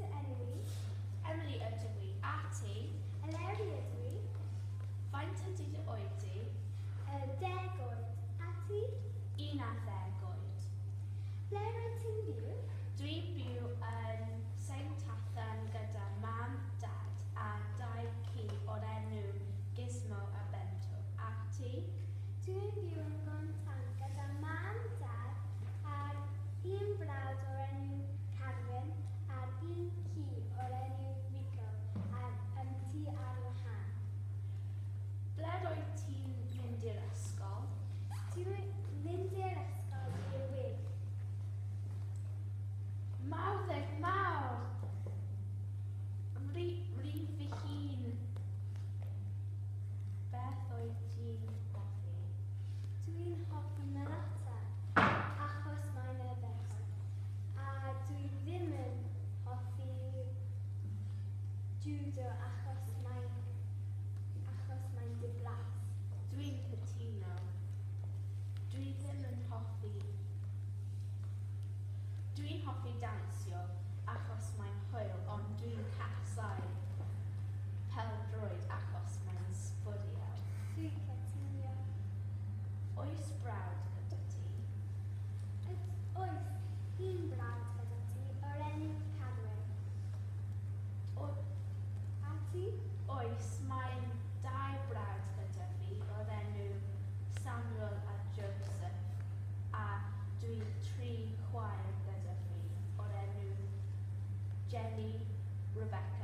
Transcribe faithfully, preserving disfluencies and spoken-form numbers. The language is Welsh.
dy enw i? Emily ydw i. A ti? Eleri ydw i. Faint ydy dy oed di? Y deg oed. A ti? Un ar ddeg oed. Ble rwyt ti'n byw? Dwi'n byw yn Saint Tathan gyda mam, dad a dau ci o'r enw Gizmo a Bento. A ti? Dwi'n byw yn Gontan gyda mam, dad a'r un brawd o'r enw Carwyn a'r un ci o'r enw Rico a'r um, tŷ ar wahân. Ble rwyt ti'n mynd i'r ysgol? Dwi'n mynd i'r ysgol i'r Wig. Mawddeg mawr! Rhi, rhif fy hun. Beth wyt ti'n hoffi? Dwi'n hoffi marchnata achos mae'n ardderchog. A dwi ddim yn hoffi judo achos mae'n achos mae'n diflas. Dwi'n cytuno. Dwi ddim yn hoffi... Dwi'n hoffi dawnsio achos mae'n hwyl, ond dwi'n casau pêl-droed achos mae'n sbwriel. Dwi'n cytuno. Oes brawd gyda ti? Yd- Oes un brawd gyda ti o'r enw Carwyn. O, A ti? Oes, mae dau brawd gyda fi o'r enw Samuel a Joseph a dwi tri chwaer gyda fi o'r enw Jenny, Rebecca